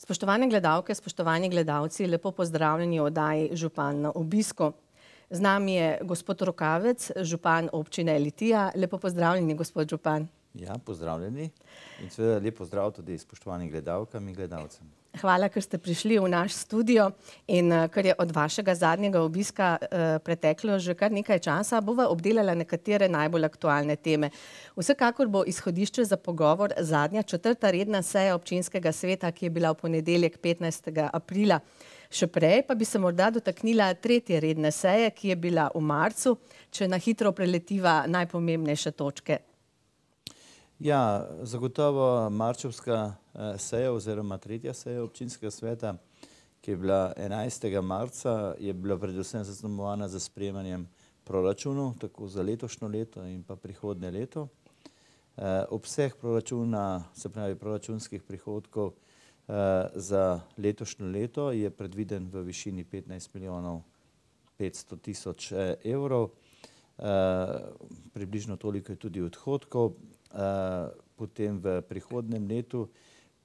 Spoštovane gledalke, spoštovani gledalci, lepo pozdravljeni v oddaji Župan na obisku. Z nami je gospod Rokavec, župan občine Litija. Lepo pozdravljeni, gospod župan. Ja, pozdravljeni in seveda lep pozdrav tudi spoštovanim gledalkam in gledalcem. Hvala, ker ste prišli v naš studio in ker je od vašega zadnjega obiska preteklo že kar nekaj časa, bova obdelala nekatere najbolj aktualne teme. Vsekakor bo izhodišče za pogovor zadnja 4. redna seja občinskega sveta, ki je bila v ponedeljek 15. aprila. Še prej pa bi se morda dotaknila 3. redne seje, ki je bila v marcu, če na hitro preletiva najpomembnejše točke. Ja, zagotovo marčevska seja oziroma 3. seja občinskega sveta, ki je bila 11. marca, je bila predvsem zaznamovana za sprejemanjem proračunov, tako za letošnje leto in pa prihodnje leto. Obseg proračuna, se pravi proračunskih prihodkov za letošnje leto je predviden v višini 15 milijonov 500 tisoč evrov. Približno toliko je tudi odhodkov. Potem v prihodnem letu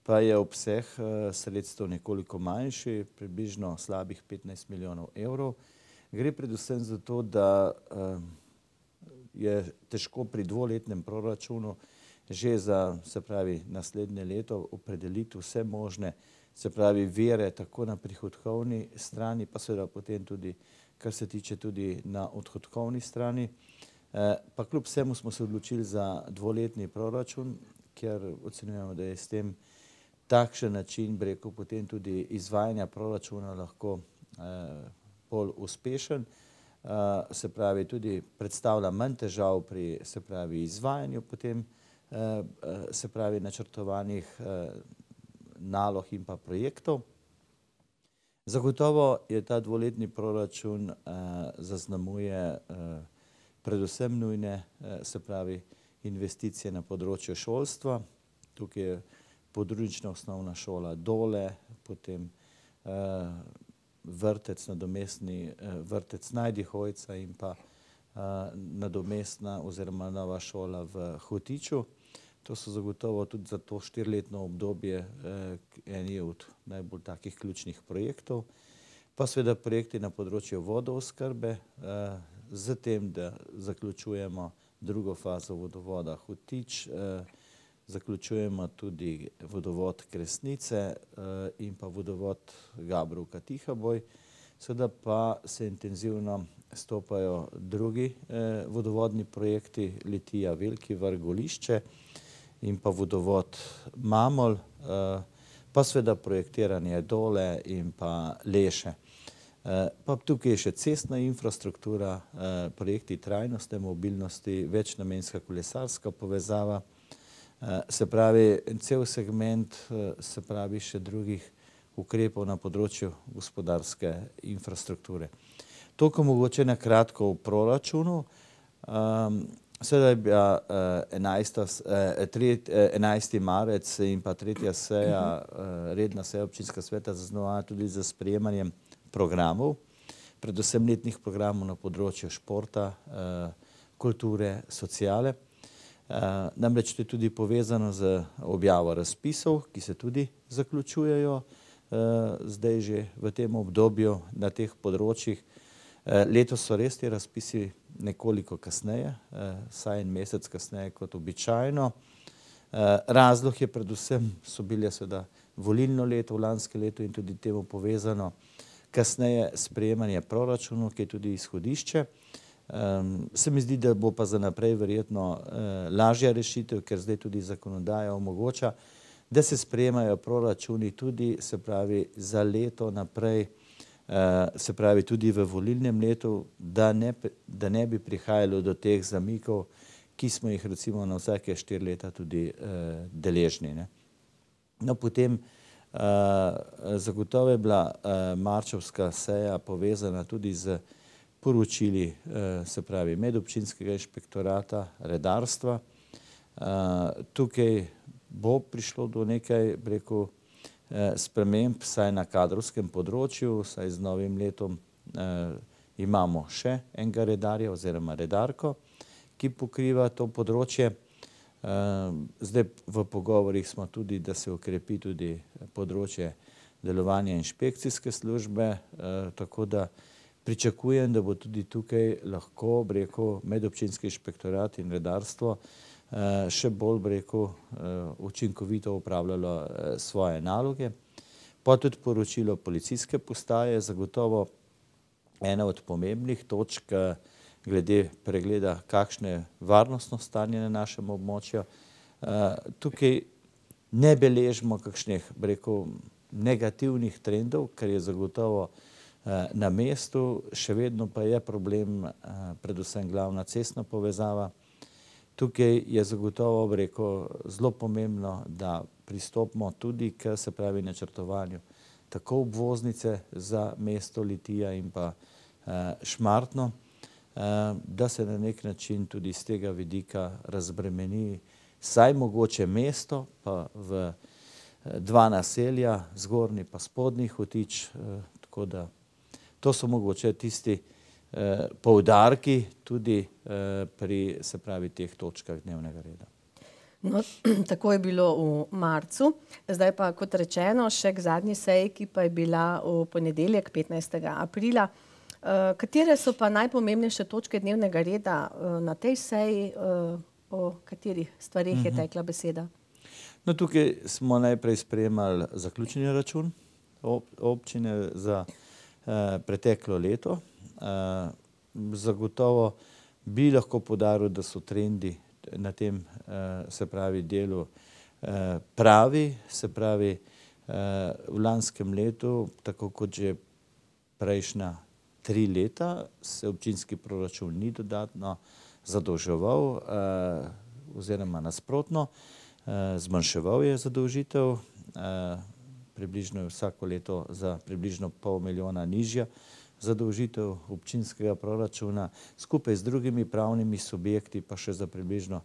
pa je obseg sredstev nekoliko manjši, približno slabih 15 milijonov evrov. Gre predvsem za to, da je težko pri dvoletnem proračunu že za, se pravi, naslednje leto opredeliti vse možne, se pravi, vire tako na prihodkovni strani, pa seveda potem tudi, kar se tiče tudi na odhodkovni strani. Pa kljub vsemu smo se odločili za dvoletni proračun, ker ocenjujemo, da je s tem takšen način, bi rekel, potem tudi izvajanja proračuna lahko bolj uspešen. Se pravi, tudi predstavlja manj težav pri, se pravi, izvajanju potem, se pravi, načrtovanih nalog in pa projektov. Zagotovo je ta dvoletni proračun zaznamuje predvsem nujne, se pravi, investicije na področju šolstva. Tukaj je podružnična osnovna šola Dole, potem vrtec, nadomestni vrtec Najdihojca in pa nadomestna oziroma nova šola v Hotiču. To so zagotovo tudi za to 4-letno obdobje eni od najbolj takih ključnih projektov. Pa seveda projekti na področju vodooskrbe, z tem, da zaključujemo drugo fazo vodovoda Hotič, zaključujemo tudi vodovod Kresnice in pa vodovod Gabrovka-Tihaboj. Seveda pa se intenzivno stopajo drugi vodovodni projekti Litija, Veliki Vrh, Golišče in pa vodovod Mamol, pa seveda projektiranje Dole in pa Leše. Pa tukaj je še cestna infrastruktura, projekti trajnostne mobilnosti, večnamenska kolesarska povezava, se pravi, cel segment, se pravi, še drugih ukrepov na področju gospodarske infrastrukture. Toliko mogoče na kratko v proračunu. Seveda je bila 11. marec in pa 3. seja, redna seja občinskega sveta zaznamovana tudi za sprejemanjem programov, predvsem letnih programov na področju športa, kulture, sociale. Namreč to je tudi povezano z objavo razpisov, ki se tudi zaključujejo zdaj že v tem obdobju na teh področjih. Letos so res ti razpisi nekoliko kasneje, vsaj en mesec kasneje kot običajno. Razlog je predvsem, so bile seveda volilno leto v lanskem letu in tudi temu povezano kasneje sprejemanje proračunov, ki je tudi izhodišče. Se mi zdi, da bo pa za naprej verjetno lažja rešitev, ker zdaj tudi zakonodaja omogoča, da se sprejemajo proračuni tudi, se pravi, za leto naprej, se pravi, tudi v volilnem letu, da ne bi prihajalo do teh zamikov, ki smo jih recimo na vsake 4 leta tudi deležni. No, potem zagotovo je bila marčevska seja povezana tudi z poročili, se pravi, medobčinskega inšpektorata, redarstva. Tukaj bo prišlo do nekaj, rekel, sprememb, saj na kadrovskem področju, saj z novim letom imamo še enega redarja oziroma redarko, ki pokriva to področje. Zdaj v pogovorih smo tudi, da se ukrepi tudi področje delovanja inšpekcijske službe, tako da pričakujem, da bo tudi tukaj lahko, bi rekel, medobčinski inšpektorat in redarstvo še bolj, bi rekel, učinkovito upravljalo svoje naloge. Pa tudi poročilo policijske postaje, zagotovo ena od pomembnih točk glede pregleda, kakšno je varnostno stanje na našem območju. Tukaj ne beležimo kakšnih, bi rekel, negativnih trendov, kar je zagotovo na mestu, še vedno pa je problem predvsem glavna cestna povezava. Tukaj je zagotovo, bi rekel, zelo pomembno, da pristopimo tudi k, se pravi, načrtovanju tako obvoznice za mesto Litija in pa Šmartno, da se na nek način tudi z tega vidika razbremeni saj mogoče mesto, pa v dva naselja, Zgornji pa Spodnji Hotič, tako da to so mogoče tisti poudarki tudi pri, se pravi, teh točkah dnevnega reda. No, tako je bilo v marcu, zdaj pa, kot rečeno, še k zadnji seji, ki pa je bila v ponedeljek, 15. aprila. Katere so pa najpomembnejše točke dnevnega reda na tej seji, o katerih stvarih je tekla beseda? No, tukaj smo najprej sprejemali zaključni račun občine za preteklo leto. Zagotovo bi lahko poudaril, da so trendi na tem, se pravi, delu pravi, se pravi, v lanskem letu, tako kot že prejšnja 3 leta, se občinski proračun ni dodatno zadolževal oziroma nasprotno, zmanjševal je zadolžitev, približno je vsako leto za približno $500 milijona nižja zadolžitev občinskega proračuna, skupaj z drugimi pravnimi subjekti pa še za približno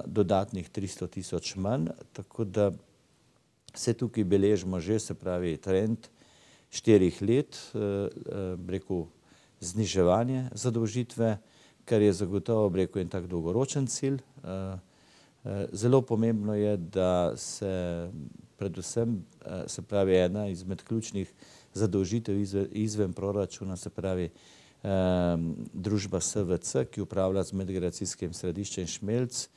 dodatnih 300 tisoč manj, tako da se tukaj beležimo že, se pravi, trend 4 let, rekel, zniževanje zadolžitve, kar je zagotovo, rekel, en tak dolgoročen cilj. Zelo pomembno je, da se predvsem, se pravi, ena izmed ključnih zadolžitev izven proračuna, se pravi, družba SVC, ki upravlja z medgeneracijskim središčem Šmelc,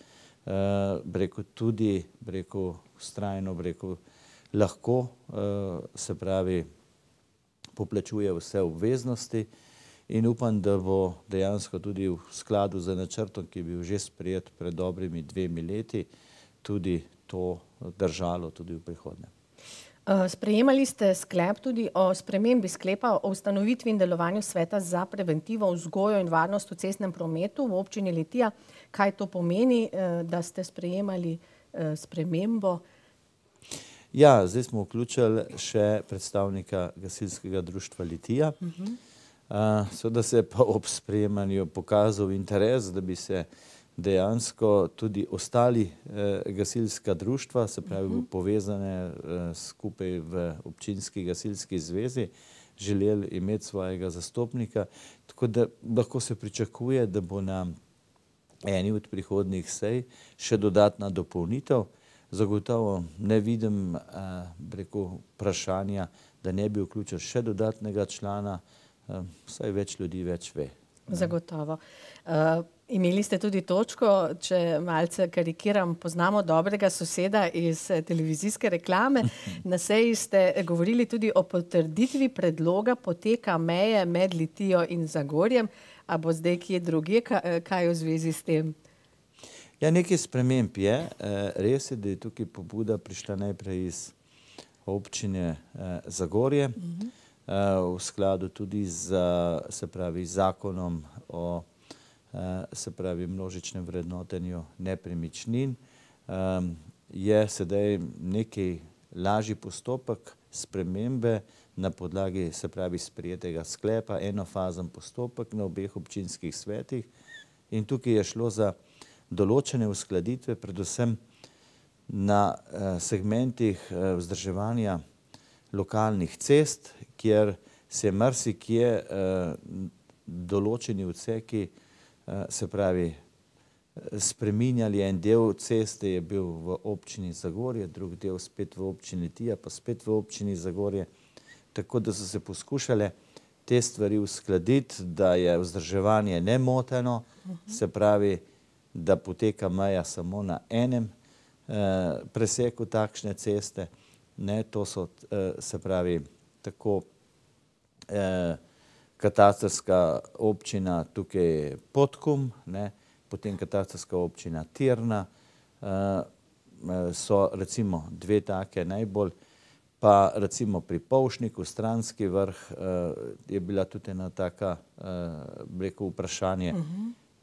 rekel, tudi, rekel, vztrajno, rekel, lahko, se pravi, poplačuje vse obveznosti in upam, da bo dejansko tudi v skladu z načrtom, ki je bil že sprejet pred dobrimi 2 leti, tudi to držalo tudi v prihodnje. Sprejemali ste sklep tudi o spremembi sklepa o ustanovitvi in delovanju sveta za preventivo, vzgojo in varnost v cestnem prometu v občini Litija. Kaj to pomeni, da ste sprejemali spremembo? Ja, zdaj smo vključili še predstavnika gasilskega društva Litija. Seveda se je pa ob sprejemanju pokazal interes, da bi se dejansko tudi ostali gasilska društva, se pravi povezane skupaj v občinski gasilski zvezi, želeli imeti svojega zastopnika, tako da lahko se pričakuje, da bo na eni od prihodnjih sej še dodatna dopolnitev. Zagotovo ne vidim, rekel, vprašanja, da ne bi vključil še dodatnega člana, saj več ljudi več ve. Zagotovo. Imeli ste tudi točko, če malce karikiram, poznamo dobrega soseda iz televizijske reklame. Na seji ste govorili tudi o potrditvi predloga poteka meje med Litijo in Zagorjem. A bo zdaj kje drugje, kaj v zvezi s tem? Ja, nekaj sprememb je. Res je, da je tukaj pobuda prišla najprej iz občine Zagorje, v skladu tudi z, se pravi, zakonom o, se pravi, množičnem vrednotenju nepremičnin. Je sedaj nekaj lažji postopek spremembe na podlagi, se pravi, sprejetega sklepa, enofazen postopek na obeh občinskih svetih. In tukaj je šlo za določene uskladitve, predvsem na segmentih vzdrževanja lokalnih cest, kjer se marsikje določeni odseki, se pravi, spreminjali. En del ceste je bil v občini Zagorje, drug del spet v občini Litija, pa spet v občini Zagorje. Tako da so se poskušale te stvari uskladiti, da je vzdrževanje nemoteno, se pravi, da poteka meja samo na enem preseku takšne ceste. Ne, to so, se pravi, tako katastrska občina tukaj Podkum, ne, potem katastrska občina Tirna, so recimo dve take najbolj, pa recimo pri Polšniku, Stranski Vrh, je bila tudi ena taka, bi rekel, vprašanje.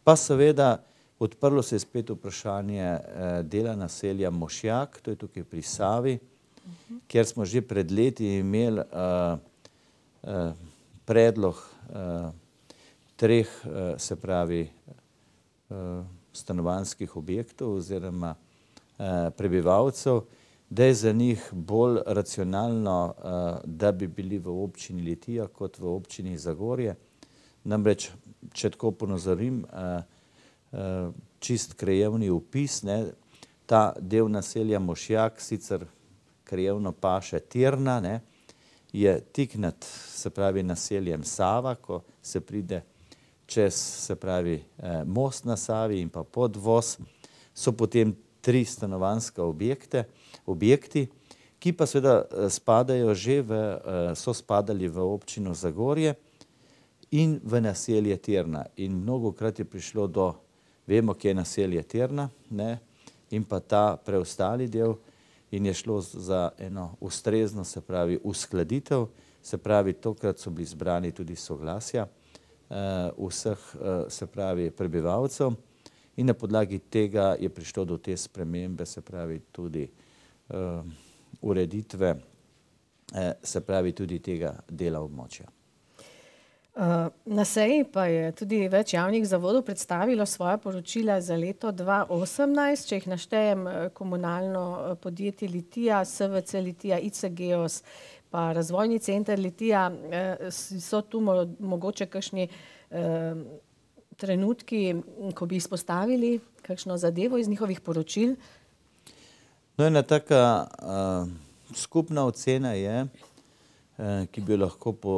Pa seveda odprlo se je spet vprašanje dela naselja Mošjak, to je tukaj pri Savi, kjer smo že pred leti imeli predlog treh, se pravi, stanovanjskih objektov oziroma prebivalcev, da je za njih bolj racionalno, da bi bili v občini Litija kot v občini Zagorje. Namreč, če tako ponazorim, čist krajevni opis, ne, ta del naselja Mošjak, sicer krajevno paše Tirna, ne, je tik nad, se pravi, naseljem Sava, ko se pride čez, se pravi, most na Savi in pa podvoz, so potem tri stanovanjska objekti, ki pa seveda spadajo že v, so spadali v občino Zagorje in v naselje Tirna. In mnogokrat je prišlo do, vemo, kje je naselje Tirna, ne, in pa ta preostali del, in je šlo za eno ustrezno, se pravi, uskladitev, se pravi, tokrat so bili zbrani tudi soglasja vseh, se pravi, prebivalcev in na podlagi tega je prišlo do te spremembe, se pravi, tudi ureditve, se pravi, tudi tega dela območja. Na seji pa je tudi več javnih zavodov predstavilo svoja poročila za leto 2018, če jih naštejem: komunalno podjetje Litija, SVC Litija, IC Geos, pa Razvojni center Litija. So tu mogoče kakšni trenutki, ko bi izpostavili kakšno zadevo iz njihovih poročil? No, ena taka skupna ocena je, ki bi lahko po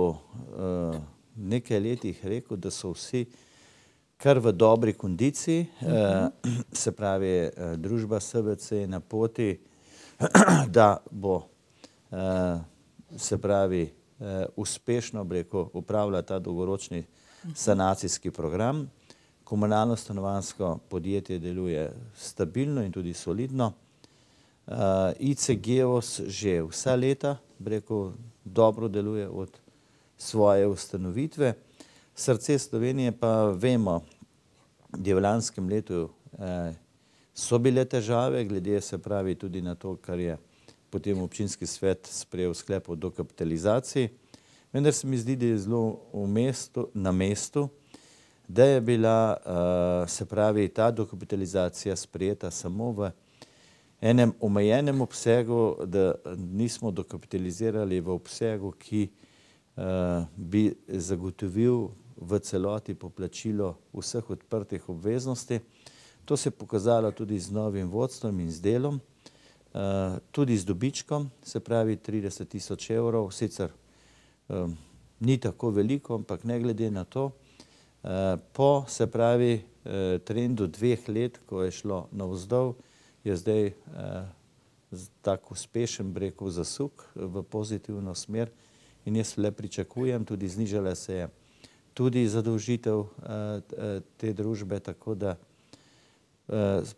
nekaj letih rekel, da so vsi kar v dobri kondiciji, se pravi, družba SVC je na poti, da bo, se pravi, uspešno, bi rekel, upravlja ta dolgoročni sanacijski program. Komunalno stanovanjsko podjetje deluje stabilno in tudi solidno. IC Geos že vsa leta, bi rekel, dobro deluje od svoje ustanovitve. Srce Slovenije pa vemo, da v lanskem letu so bile težave, glede, se pravi, tudi na to, kar je potem občinski svet sprejel sklep o dokapitalizaciji. Vendar se mi zdi, da je zelo na mestu, da je bila, se pravi, ta dokapitalizacija sprejeta samo v enem omejenem obsegu, da nismo dokapitalizirali v obsegu, ki bi zagotovil v celoti poplačilo vseh odprtih obveznosti. To se je pokazalo tudi z novim vodstvom in z delom, tudi z dobičkom, se pravi 30 tisoč evrov, sicer ni tako veliko, ampak ne glede na to, po, se pravi, trendu 2 let, ko je šlo navzdol, je zdaj tak uspešen, bi rekel, zasuk v pozitivno smer. In jaz le pričakujem, tudi znižala se je tudi zadolžitev te družbe, tako da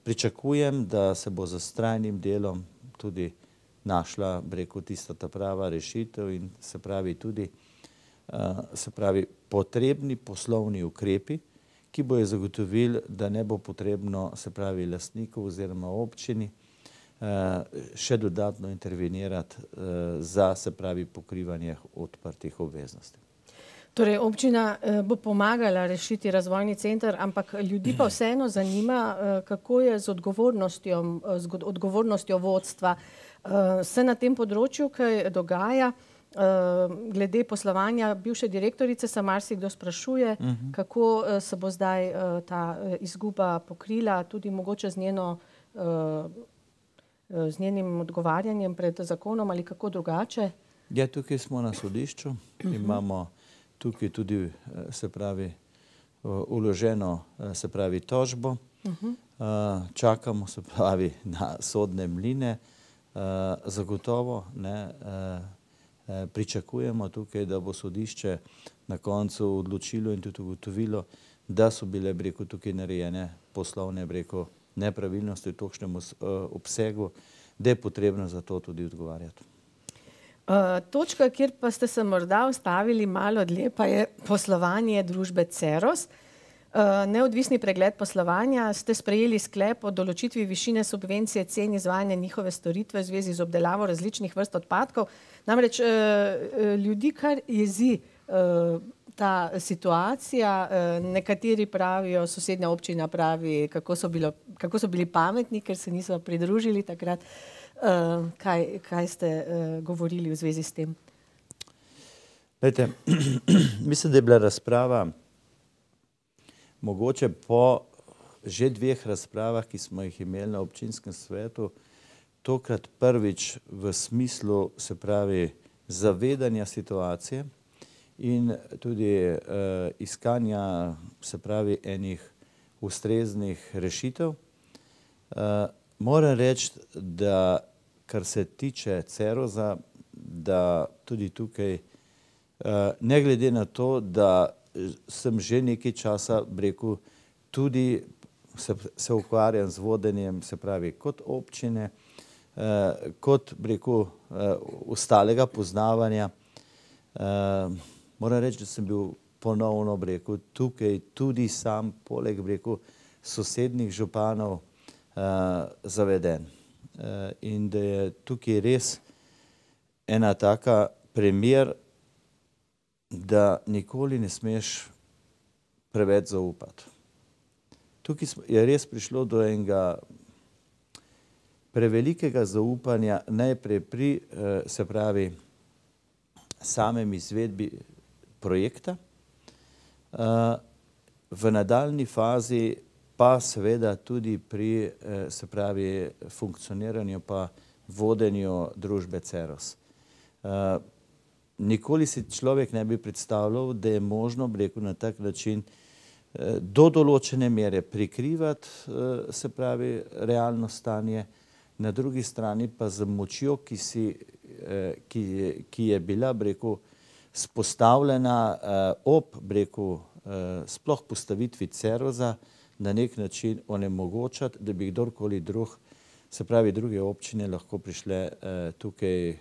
pričakujem, da se bo z vztrajnim delom tudi našla, bi rekel, tista ta prava rešitev in se pravi tudi, se pravi, potrebni poslovni ukrepi, ki bojo zagotovili, da ne bo potrebno, se pravi, lastnikov oziroma občini še dodatno intervenirati za, se pravi, pokrivanje odprtih obveznosti. Torej, občina bo pomagala rešiti razvojni center, ampak ljudi pa vseeno zanima, kako je z odgovornostjo vodstva. Se na tem področju kaj dogaja glede poslovanja bivše direktorice se marsikdo sprašuje, kako se bo zdaj ta izguba pokrila, tudi mogoče z njenim odgovarjanjem pred zakonom ali kako drugače. Ja, tukaj smo na sodišču, imamo tukaj tudi, se pravi, vloženo, se pravi, tožbo. Čakamo, se pravi, na sodne mline. Zagotovo pričakujemo tukaj, da bo sodišče na koncu odločilo in tudi ugotovilo, da so bile, bi rekel, tukaj narejene poslovne, bi rekel, nepravilnosti v takšnem obsegu, da je potrebno za to tudi odgovarjati. Točka, kjer pa ste se morda ustavili malo dlje, pa je poslovanje družbe Ceros. Neodvisni pregled poslovanja, ste sprejeli sklep o določitvi višine subvencije cen izvajanja njihove storitve v zvezi z obdelavo različnih vrst odpadkov. Namreč ljudi kar jezi ta situacija, nekateri pravijo, sosednja občina pravi, kako so bili pametni, ker se niso pridružili takrat. Kaj ste govorili v zvezi s tem? Glejte, mislim, da je bila razprava mogoče po že 2 razpravah, ki smo jih imeli na občinskem svetu, tokrat prvič v smislu, se pravi, zavedanja situacije in tudi iskanja, se pravi, enih ustreznih rešitev. Moram reči, da kar se tiče Cerosa, da tudi tukaj, ne glede na to, da sem že nekaj časa, bi rekel, tudi se ukvarjam z vodenjem, se pravi, kot občine, kot, bi rekel, ostalega poznavanja. Moram reči, da sem bil ponovno, bi rekel, tukaj tudi sam, poleg, bi rekel, sosednjih županov, zaveden. In da je tukaj res ena taka primer, da nikoli ne smeš preveč zaupati. Tukaj je res prišlo do enega prevelikega zaupanja najprej pri, se pravi, samem izvedbi projekta, v nadaljni fazi pa seveda tudi pri, se pravi, funkcioniranju pa vodenju družbe Ceros. Nikoli si človek ne bi predstavljal, da je možno, bi rekel, na tak način do določene mere prikrivati, se pravi, realno stanje, na drugi strani pa z močjo, ki je bila, bi rekel, spostavljena ob, bi rekel, sploh postavitvi Cerosa, na nek način onemogočati, da bi kdorkoli drug, se pravi, druge občine lahko prišle tukaj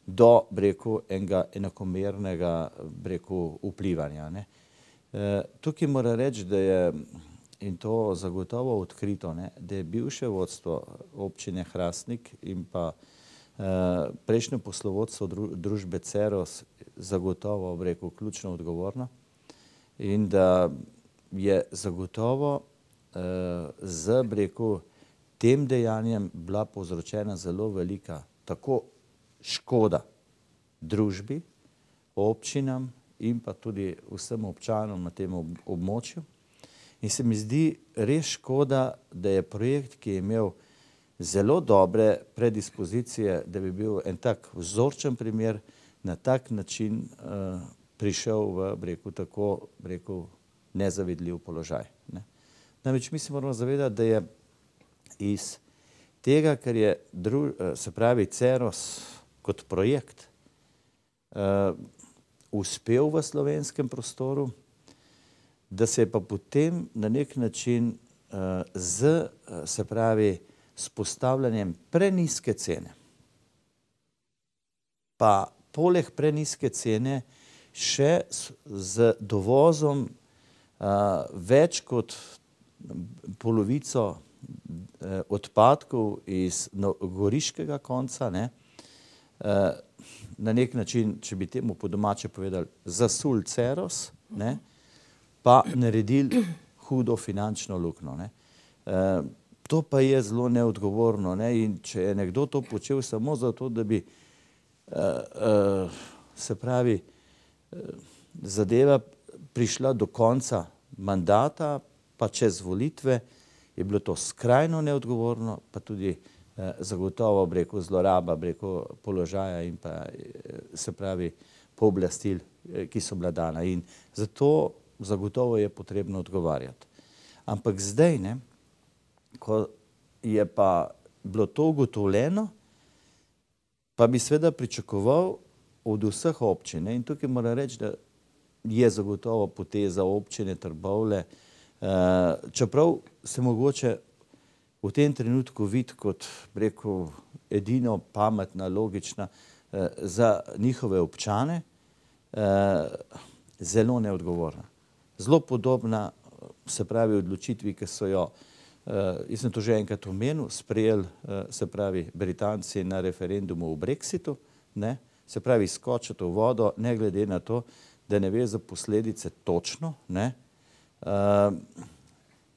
do, bi rekel, enega enakomernega, bi rekel, vplivanja. Tukaj moram reči, da je, in to zagotovo odkrito, da je bivše vodstvo občine Hrastnik in pa prejšnje poslovodstvo družbe Ceros zagotovo, bi rekel, ključno odgovorno in da je zagotovo z, bi rekel, tem dejanjem bila povzročena zelo velika tako škoda družbi, občinam in pa tudi vsem občanom na tem območju. In se mi zdi res škoda, da je projekt, ki je imel zelo dobre predispozicije, da bi bil en tak vzorčen primer, na tak način prišel v, bi rekel, tako, bi rekel, nezavidljiv položaj. Namreč mi se moramo zavedati, da je iz tega, ker je, se pravi, Ceros kot projekt uspel v slovenskem prostoru, da se je pa potem na nek način z, se pravi, s postavljanjem prenizke cene, pa poleg prenizke cene še z dovozom več kot polovico odpadkov iz goriškega konca, na nek način, če bi temu po domače povedali, zasul Ceros, pa naredili hudo finančno luknjo. To pa je zelo neodgovorno. In če je nekdo to počel samo zato, da bi se pravi, zadeva prišla do konca mandata, pa čez volitve, je bilo to skrajno neodgovorno, pa tudi zagotovo, bi rekel, zloraba, bi rekel, položaja in pa, se pravi, pooblastil, ki so bila dana. In zato zagotovo je potrebno odgovarjati. Ampak zdaj, ne, ko je pa bilo to ugotovljeno, pa bi seveda pričakoval od vseh občin, ne, in tukaj moram reči, da je zagotovo poteza občine Trbovlje, čeprav se mogoče v tem trenutku vidi kot, bi rekel, edino pametna, logična za njihove občane, zelo neodgovorna. Zelo podobna, se pravi, odločitvi, ki so jo, jaz sem to že enkrat omenil, sprejeli, se pravi, Britanci na referendumu o Brexitu, ne, se pravi, skočiti v vodo, ne glede na to, da ne ve za posledice točno, ne,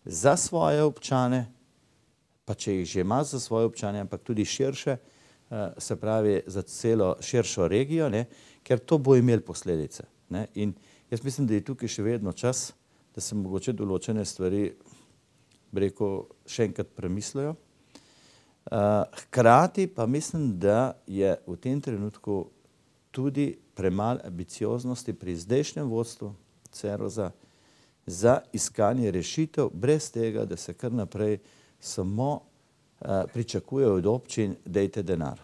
za svoje občane, pa če jih že ima za svoje občane, ampak tudi širše, se pravi, za celo širšo regijo, ne, ker to bo imel posledice, ne. In jaz mislim, da je tukaj še vedno čas, da se mogoče določene stvari, bi rekel, še enkrat premislijo. Hkrati pa mislim, da je v tem trenutku tudi premalo ambicioznosti pri zdajšnjem vodstvu Ceroza za iskanje rešitev, brez tega, da se kar naprej samo pričakuje od občin, dajte denar.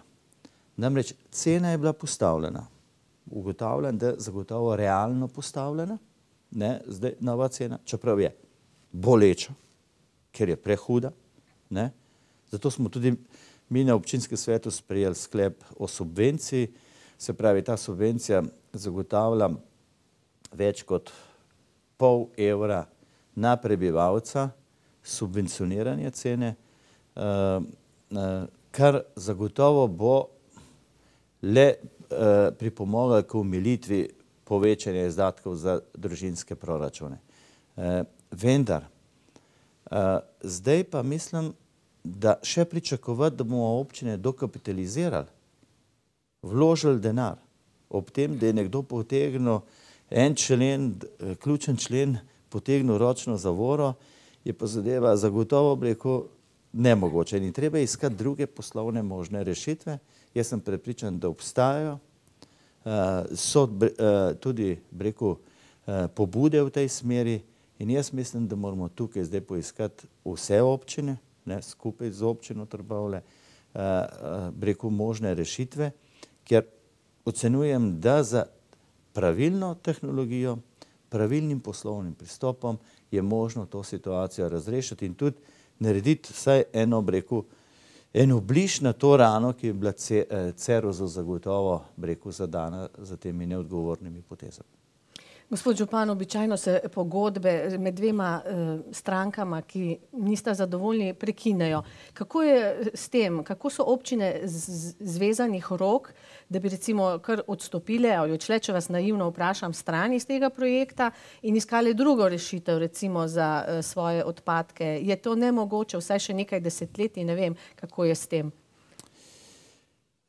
Namreč cena je bila postavljena. Ugotavljam, da zagotovo realno postavljena, ne, zdaj nova cena, čeprav je boleča, ker je prehuda, ne. Zato smo tudi mi na občinskem svetu sprejeli sklep o subvenciji, se pravi, ta subvencija zagotavlja več kot €0,5 na prebivalca subvencioniranje cene, kar zagotovo bo le pripomoglo k omilitvi povečanja izdatkov za družinske proračune. Vendar, zdaj pa mislim, da še pričakovati, da bomo občine dokapitalizirali, vložili denar, ob tem, da je nekdo potegnil en člen, ključen člen, potegnil ročno zavoro, je pa zadeva zagotovo, bi rekel, nemogoče. In treba iskati druge poslovne možne rešitve. Jaz sem prepričan, da obstajajo. So tudi, bi rekel, pobude v tej smeri in jaz mislim, da moramo tukaj zdaj poiskati vse občine, ne, skupaj z občino Trbovlje, bi rekel, možne rešitve, ker ocenjujem, da za pravilno tehnologijo, pravilnim poslovnim pristopom je možno to situacijo razrešiti in tudi narediti vsaj eno, bi rekel, eno bliž na to rano, ki je bila Cerozu zagotovo, bi rekel, zadana za temi neodgovornimi potezami. Gospod župan, običajno se pogodbe med dvema strankama, ki nista zadovoljni, prekinejo. Kako je s tem? Kako so občine zvezanih rok, da bi recimo kar odstopile ali odšle, če vas naivno vprašam, stran iz tega projekta in iskali drugo rešitev, recimo za svoje odpadke? Je to nemogoče vsaj še nekaj desetletij, ne vem, kako je s tem?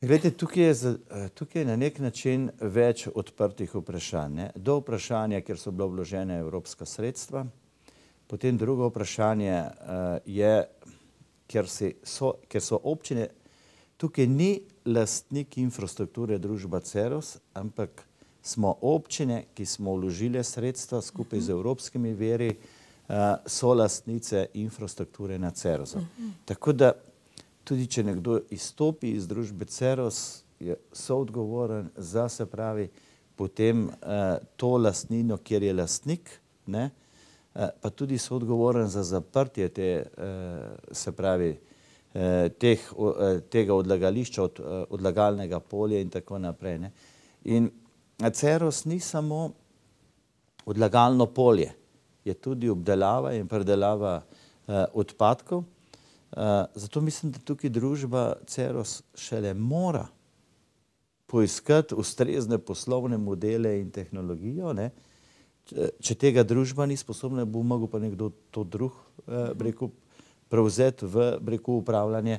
Glejte, tukaj je na nek način več odprtih vprašanj, ne. Do vprašanja, kjer so bila vložena evropska sredstva, potem drugo vprašanje je, ker so občine, tukaj ni lastnik infrastrukture družba Ceros, ampak smo občine, ki smo vložile sredstva skupaj z evropskimi viri, so lastnice infrastrukture na Cerosu. Tako da tudi če nekdo izstopi iz družbe Ceros, je soodgovoren za, se pravi, potem to lastnino, kjer je lastnik, ne, pa tudi soodgovoren za zaprtje te, se pravi, tega odlagališča, odlagalnega polja in tako naprej, ne. In Ceros ni samo odlagalno polje, je tudi obdelava in predelava odpadkov. Zato mislim, da tukaj družba Ceros šele mora poiskati ustrezne poslovne modele in tehnologijo, ne. Če tega družba ni sposobna, bo mogel pa nekdo to drug, bi rekel, prevzeti v, bi rekel, upravljanje,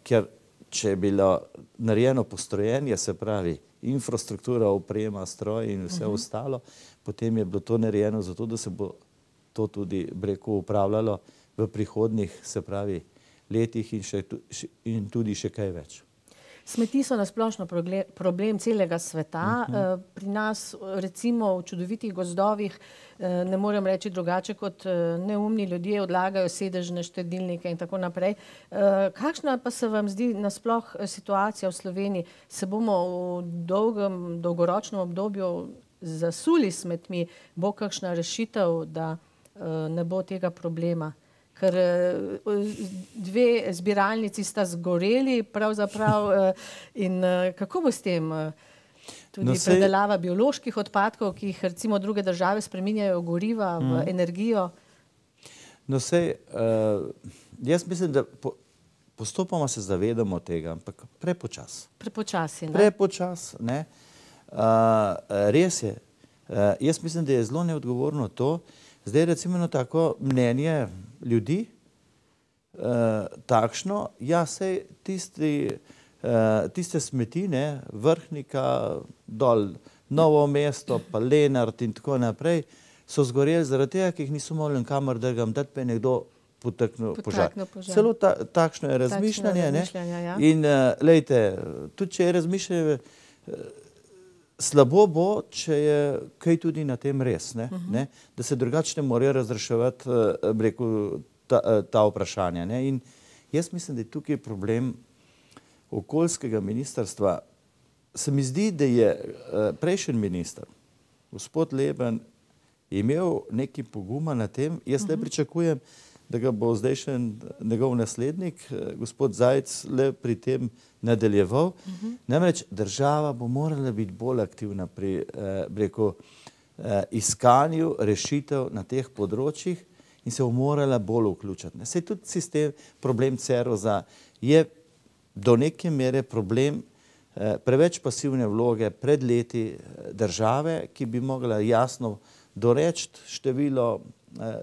ker če je bilo narejeno postrojenje, se pravi infrastruktura, oprema, stroj in vse ostalo, potem je bilo to narejeno zato, da se bo to tudi, rekel, upravljalo v prihodnjih, se pravi, letih in tudi še kaj več. Smeti so nasplošno problem celega sveta. Pri nas, recimo v čudovitih gozdovih, ne morem reči drugače, kot neumni ljudje odlagajo sedežne štedilnike in tako naprej. Kakšna pa se vam zdi nasploh situacija v Sloveniji? Se bomo v dolgoročnem obdobju zasuli s smetmi? Bo kakšna rešitev, da ne bo tega problema? Ker dve zbiralnici sta zgoreli pravzaprav in kako bo s tem? Tudi predelava bioloških odpadkov, ki jih recimo druge države spreminjajo v goriva, v energijo. No sej, jaz mislim, da postopoma se zavedamo tega, ampak prepočas. Prepočasi, ne? Prepočas, ne. Res je. Jaz mislim, da je zelo neodgovorno to. Zdaj recimo tako mnenje ljudi, takšno, ja, sej tiste smeti, ne, Vrhnika, dol Novo mesto, pa Lenart in tako naprej, so zgoreli zaradi tega, ki jih niso mogli kamor drugam dati, pa je nekdo potaknil požar. Celo takšno je razmišljanje, ne. In glejte, tudi če je razmišljanje, slabo bo, če je kaj tudi na tem res, ne? Da se drugače ne morajo razreševati, rekel, ta vprašanja, ne? In jaz mislim, da je tukaj problem okoljskega ministrstva. Se mi zdi, da je prejšnji minister, gospod Leben, imel nekaj poguma na tem. Jaz le pričakujem, da ga bo zdaj še njegov naslednik, gospod Zajc, le pri tem nadaljeval. Namreč država bo morala biti bolj aktivna pri iskanju rešitev na teh področjih in se bo morala bolj vključiti. Saj tudi sistem, problem Ceroza je do neke mere problem preveč pasivne vloge pred leti države, ki bi mogla jasno doreči število,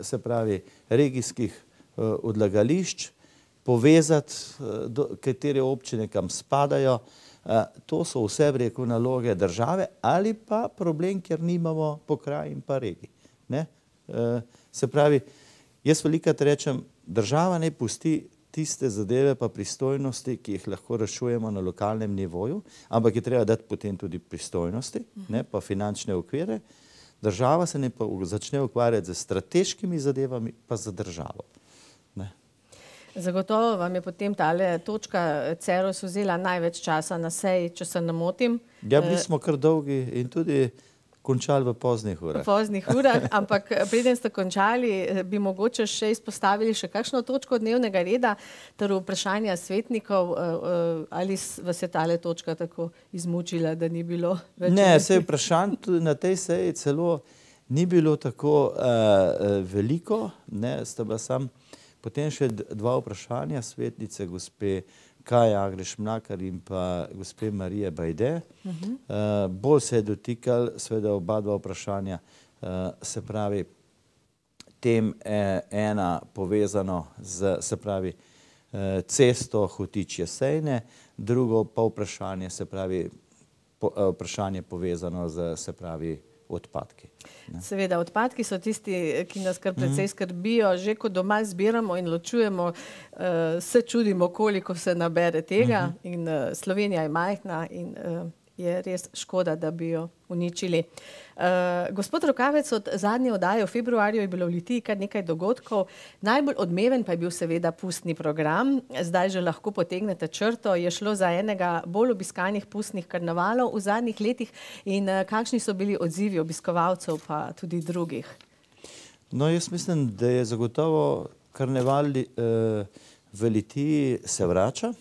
se pravi, regijskih odlagališč, povezati, katere občine kam spadajo. To so vse, bi rekel, naloge države ali pa problem, ker nimamo pokrajin pa regij. Se pravi, jaz velikokrat rečem, država naj pusti tiste zadeve pa pristojnosti, ki jih lahko rešujemo na lokalnem nivoju, ampak je treba dati potem tudi pristojnosti, pa finančne okvire. Država se ne pa začne ukvarjati z strateškimi zadevami, pa za državo. Zagotovo vam je potem tale točka Ceros vzela največ časa na seji, če se ne motim. Ja, bili smo kar dolgi in tudi končali v poznih urah. V poznih urah, ampak preden ste končali, bi mogoče še izpostavili še kakšno točko dnevnega reda, ter vprašanja svetnikov, ali vas je tale točka tako izmučila, da ni bilo več? Ne, saj vprašanj tudi na tej seji celo ni bilo tako veliko, ne, sta bila sam potem še dva vprašanja svetnice, gospe Kaja Agreš-Mlakar in pa gospe Marije Bajde. Bolj se je dotikal seveda oba dva vprašanja, se pravi, tem ena povezano z, se pravi, cesto Hotič-Jesejne, drugo pa vprašanje, se pravi, vprašanje povezano z, se pravi, odpadki. Seveda, odpadki so tisti, ki nas kar precej skrbijo. Že ko doma zbiramo in ločujemo, se čudimo, koliko se nabere tega. In Slovenija je majhna in je res škoda, da bi jo uničili. Gospod Rokavec, od zadnje oddaje v februarju je bilo v Litiji kar nekaj dogodkov. Najbolj odmeven pa je bil seveda pustni program. Zdaj že lahko potegnete črto. Je šlo za enega bolj obiskanih pustnih karnevalov v zadnjih letih. In kakšni so bili odzivi obiskovalcev pa tudi drugih? No, jaz mislim, da je zagotovo karneval v Litiji se vrača.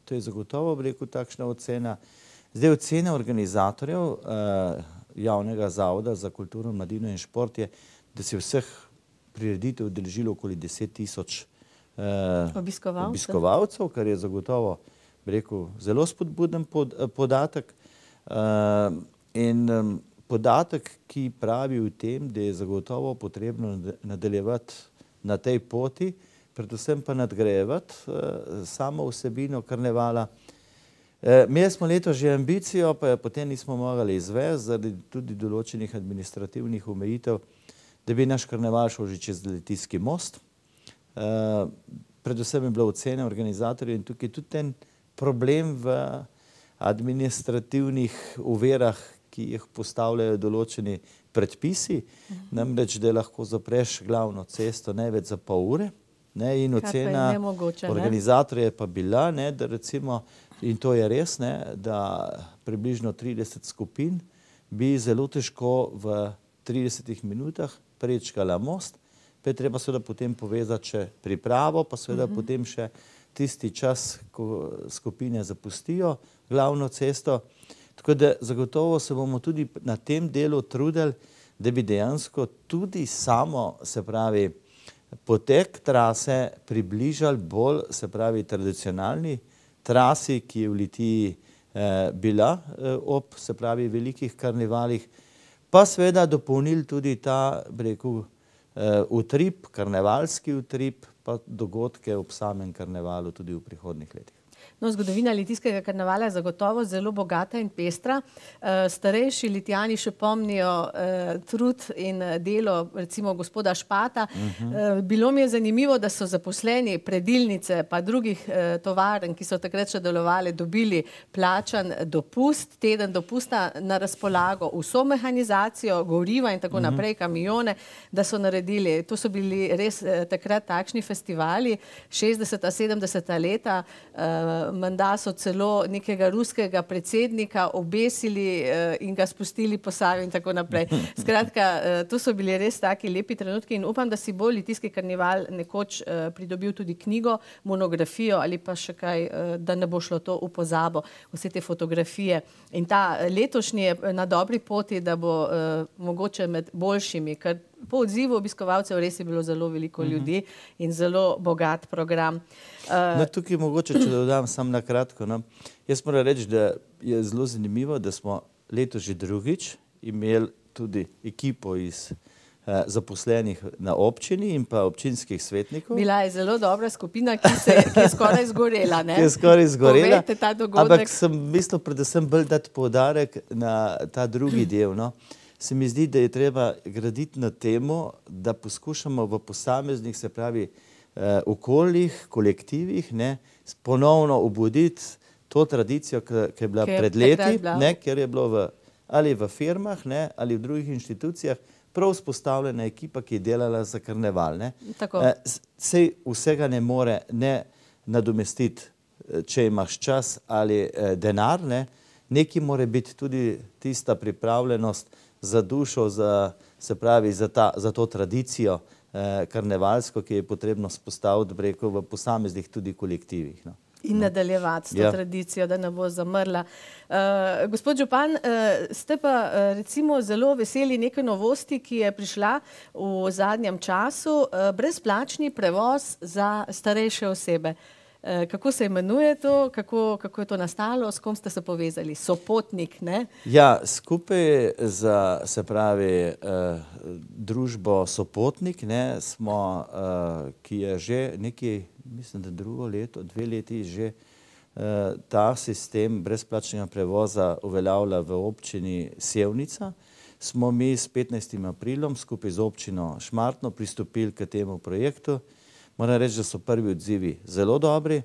To je zagotovo, bi rekel, takšna ocena. Zdaj, ocena organizatorjev Javnega zavoda za kulturo, mladino in šport je, da se vseh prireditev udeležilo okoli 10 000 obiskovalcev, kar je zagotovo, bi rekel, zelo spodbuden podatek. In podatek, ki pravi v tem, da je zagotovo potrebno nadaljevati na tej poti, predvsem pa nadgrajevati samo vsebino karnevala. Imeli smo letos že ambicijo, pa jo potem nismo mogli izvesti zaradi tudi določenih administrativnih omejitev, da bi naš karneval šel že čez Litijski most. Predvsem je bilo ocene organizatorjev in tukaj tudi ten problem v administrativnih uverah, ki jih postavljajo določeni predpisi, namreč, da lahko zapreš glavno cesto največ za pol ure, in ocena organizatorja je pa bila, da recimo, in to je res, da približno 30 skupin bi zelo težko v 30 minutah prečkala most, pa je treba seveda potem povezati še pripravo, pa seveda potem še tisti čas, ko skupine zapustijo glavno cesto. Tako da zagotovo se bomo tudi na tem delu trudili, da bi dejansko tudi samo, se pravi, potek trase približali bolj, se pravi, tradicionalni trasi, ki je v Litiji bila ob, se pravi, velikih karnevalih, pa seveda dopolnili tudi ta, bi rekel, utrip, karnevalski utrip, pa dogodke ob samem karnevalu tudi v prihodnjih letih. No, zgodovina litijskega karnevala je zagotovo zelo bogata in pestra. Starejši Litijani še pomnijo trud in delo recimo gospoda Špata. Bilo mi je zanimivo, da so zaposleni predilnice pa drugih tovarn, ki so takrat še delovali, dobili plačan dopust, teden dopusta na razpolago, vso mehanizacijo, goriva in tako naprej, kamione, da so naredili. To so bili res takrat takšni festivali, 60. 70. leta, menda so celo nekega ruskega predsednika obesili in ga spustili po Savi in tako naprej. Skratka, to so bili res taki lepi trenutki in upam, da si bo litijski karneval nekoč pridobil tudi knjigo, monografijo ali pa še kaj, da ne bo šlo to v pozabo, vse te fotografije. In ta letošnji je na dobri poti, da bo mogoče med boljšimi, ker po odzivu obiskovalcev res je bilo zelo veliko ljudi in zelo bogat program. Tukaj mogoče, če dodam samo na kratko, jaz moram reči, da je zelo zanimivo, da smo letos že drugič imeli tudi ekipo iz zaposlenih na občini in pa občinskih svetnikov. Bila je zelo dobra skupina, ki je skoraj zgorela. Ki je skoraj zgorela, povejte ta dogodek. Ampak sem mislil predvsem bolj dati poudarek na ta drugi del. Se mi zdi, da je treba graditi na temu, da poskušamo v posameznih, se pravi, okoljih, kolektivih, ponovno obuditi to tradicijo, ki je bila pred leti, ker je bilo ali v firmah, ali v drugih inštitucijah prav vzpostavljena ekipa, ki je delala za karneval. Sej vsega ne more nadomestiti, če imaš čas ali denar, nekaj mora biti tudi tista pripravljenost za dušo, se pravi, za to tradicijo karnevalsko, ki je potrebno spostaviti, rekel, v posameznih tudi kolektivih. In nadaljevati s to tradicijo, da ne bo zamrla. Gospod župan, ste pa recimo zelo veseli neke novosti, ki je prišla v zadnjem času, brezplačni prevoz za starejše osebe. Kako se imenuje to, kako je to nastalo, s kom ste se povezali? Sopotnik, ne? Ja, skupaj za, se pravi, družbo Sopotnik, smo, ki je že nekaj, mislim, da drugo leto, 2 leti že ta sistem brezplačnega prevoza uveljavlja v občini Sevnica, smo mi s 15. aprilom skupaj z občino Šmartno pristopili k temu projektu. Moram reči, da so prvi odzivi zelo dobri.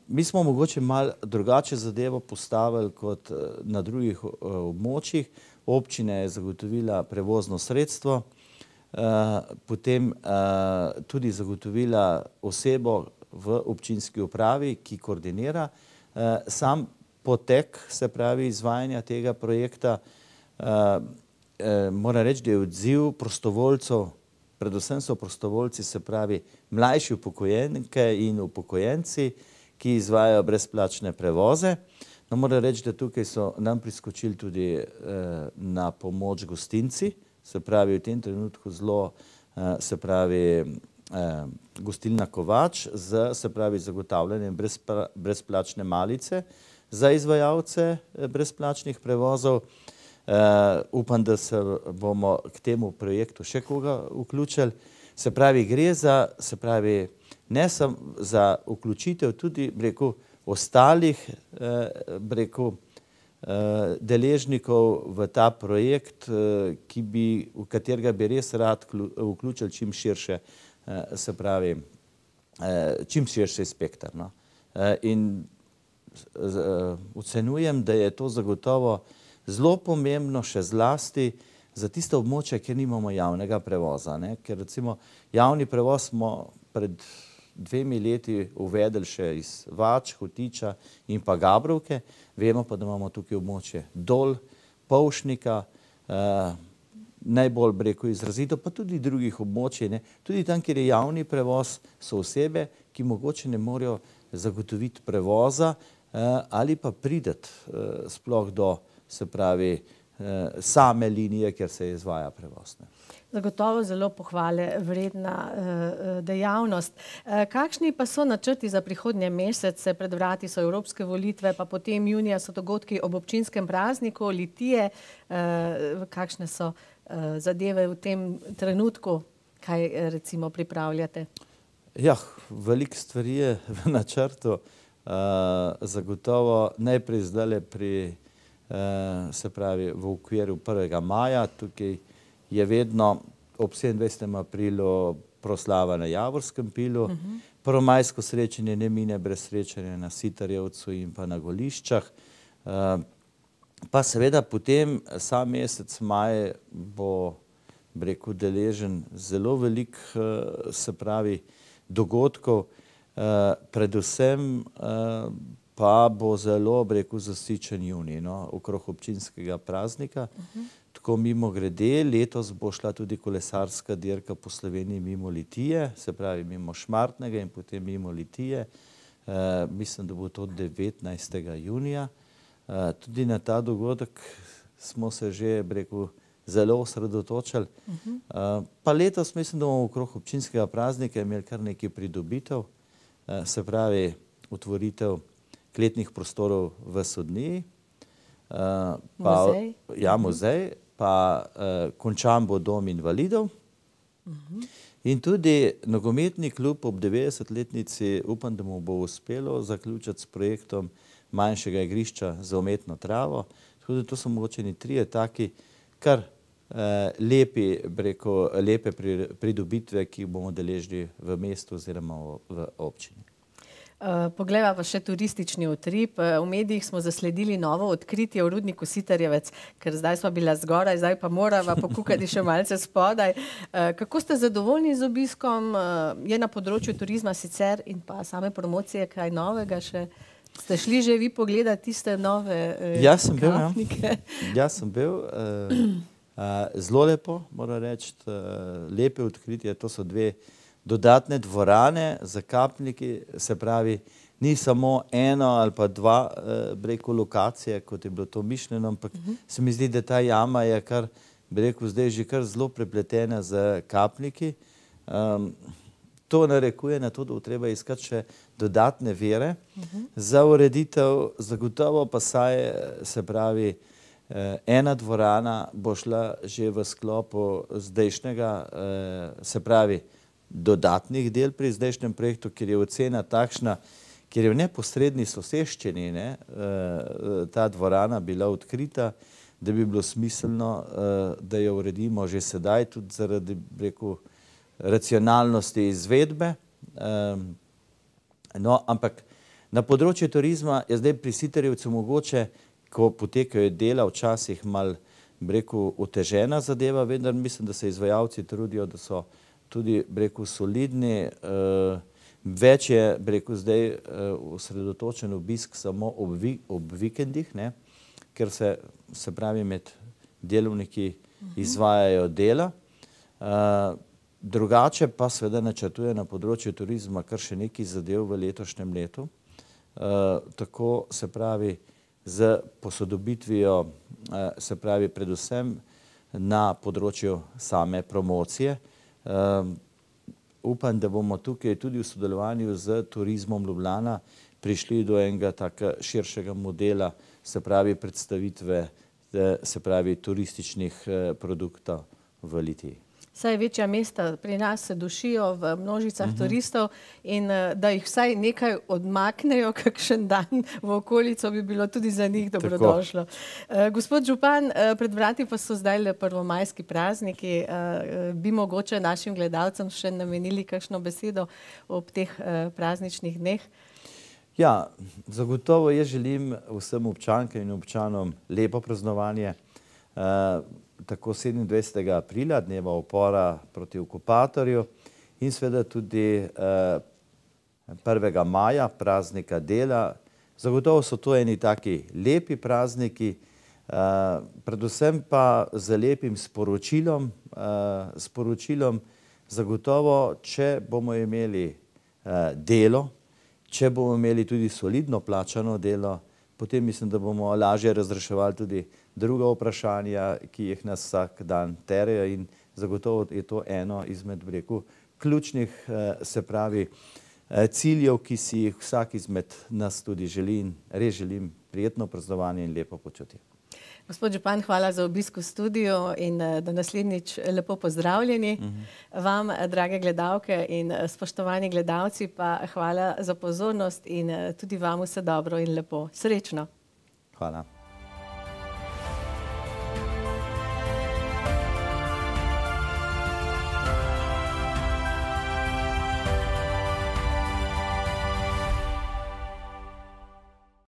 Mi smo mogoče malo drugače zadevo postavili kot na drugih območjih. Občina je zagotovila prevozno sredstvo, potem tudi zagotovila osebo v občinski upravi, ki koordinira sam potek, se pravi, izvajanja tega projekta. Moram reči, da je odziv prostovoljcev, predvsem so prostovoljci, se pravi, mlajši upokojenke in upokojenci, ki izvajajo brezplačne prevoze. No, moram reči, da tukaj so nam priskočili tudi na pomoč gostinci, se pravi, v tem trenutku zelo, se pravi, gostilna Kovač z, se pravi, zagotavljanjem brezplačne malice za izvajalce brezplačnih prevozov. Upam, da se bomo k temu projektu še koga vključili. Se pravi, gre za, se pravi, ne samo za vključitev tudi, bi rekel, ostalih, bi rekel, deležnikov v ta projekt, v katerega bi res rad vključili čim širše, se pravi, čim širši spektar, no. In ocenjujem, da je to zagotovo zelo pomembno še zlasti za tiste območja, kjer nimamo javnega prevoza, ne. Ker recimo javni prevoz smo pred 2 leti uvedli še iz Vač, Hotiča in pa Gabrovke. Vemo pa, da imamo tukaj območje Dol, Polšnika, najbolj, bi rekel, izrazito, pa tudi drugih območij, ne. Tudi tam, kjer je javni prevoz, so osebe, ki mogoče ne morejo zagotoviti prevoza ali pa priti sploh do, se pravi, same linije, kjer se izvaja prevoz, ne. Zagotovo zelo pohvale vredna dejavnost. Kakšni pa so načrti za prihodnje mesece? Pred vrati so evropske volitve, pa potem junija so dogodki ob občinskem prazniku Litije. Kakšne so zadeve v tem trenutku? Kaj recimo pripravljate? Ja, veliko stvari je v načrtu. Zagotovo najprej zdajle se pravi, v okviru 1. maja, tukaj je vedno ob 27. aprilu proslava na Javorskem pilu. Prvomajsko srečanje ne mine brez srečanja na Sitarjevcu in pa na Goliščah. Pa seveda potem sam mesec maj bo, bi rekel, deležen zelo velik, se pravi, dogodkov. Predvsem pa bo zelo, bi rekel, zasičen junij, no, okrog občinskega praznika. Tako mimogrede, letos bo šla tudi kolesarska dirka po Sloveniji mimo Litije, se pravi mimo Šmartnega in potem mimo Litije. Mislim, da bo to 19. junija. Tudi na ta dogodek smo se že, bi rekel, zelo osredotočili. Pa letos mislim, da bomo okrog občinskega praznika imeli kar nekaj pridobitev, se pravi otvoritev kletnih prostorov v Sodniji. Muzej? Ja, muzej. Pa končan bo dom invalidov. In tudi nogometni klub ob 90-letnici, upam, da mu bo uspelo zaključiti s projektom manjšega igrišča za umetno travo. Tako da to so mogoče trije taki kar lepe pridobitve, ki jih bomo deležni v mestu oziroma v občini. Poglejva pa še turistični utrip. V medijih smo zasledili novo odkritje v rudniku Sitarjevec, ker zdaj smo bila zgoraj, zdaj pa morava pokukati še malce spodaj. Kako ste zadovoljni z obiskom? Je na področju turizma sicer in pa same promocije kaj novega še? Ste šli že vi pogledati tiste nove kapnike? Jaz sem bil. Zelo lepo, moram reči, lepe odkritje. To so dve dodatne dvorane za kapniki, se pravi, ni samo eno ali pa dva, bi rekel, lokacije, kot je bilo to mišljeno, ampak se mi zdi, da ta jama je kar, bi rekel, zdaj že kar zelo prepletena z kapniki. To narekuje na to, da bo treba iskati še dodatne vire za ureditev, zagotovo pa saj, se pravi, ena dvorana bo šla že v sklopu zdajšnjega, se pravi, dodatnih del pri zdajšnjem projektu, ker je ocena takšna, ker je v neposredni soseščini ta dvorana bila odkrita, da bi bilo smiselno, da jo uredimo že sedaj, tudi zaradi, bi rekel, racionalnosti izvedbe. No, ampak na področju turizma je zdaj pri Sitarjevcu mogoče, ko potekajo dela, včasih malo, bi rekel, otežena zadeva, vendar mislim, da se izvajalci trudijo, da so tudi, bi rekel, solidni. Več je, bi rekel, zdaj osredotočen obisk samo ob vikendih, ne, ker se pravi, med delovniki izvajajo dela. Drugače pa seveda načrtuje na področju turizma kar še nekaj zadev v letošnjem letu. Tako, se pravi, z posodobitvijo, se pravi, predvsem na področju same promocije. Upam, da bomo tukaj tudi v sodelovanju z Turizmom Ljubljana prišli do enega tako širšega modela, se pravi predstavitve, se pravi turističnih produktov v Litiji. Saj večja mesta pri nas se dušijo v množicah turistov in da jih vsaj nekaj odmaknejo, kakšen dan v okolico bi bilo tudi za njih dobrodošlo. Gospod župan, pred vrati pa so zdaj le prvomajski prazniki. Bi mogoče našim gledalcem še namenili kakšno besedo ob teh prazničnih dneh? Ja, zagotovo jaz želim vsem občankam in občanom lepo praznovanje. Tako 27. aprila, dneva upora proti okupatorju in seveda tudi 1. maja, praznika dela. Zagotovo so to eni taki lepi prazniki, predvsem pa z lepim sporočilom, zagotovo, če bomo imeli delo, če bomo imeli tudi solidno plačano delo, potem mislim, da bomo lažje razreševali tudi druga vprašanja, ki jih nas vsak dan terejo in zagotovo je to eno izmed, bi rekel, ključnih, se pravi, ciljev, ki si jih vsak izmed nas tudi želi in res želim prijetno praznovanje in lepo počutje. Gospod župan, hvala za obisk v studiu in do naslednjič lepo pozdravljeni. Vam, drage gledalke in spoštovani gledalci, pa hvala za pozornost in tudi vam vse dobro in lepo. Srečno! Hvala.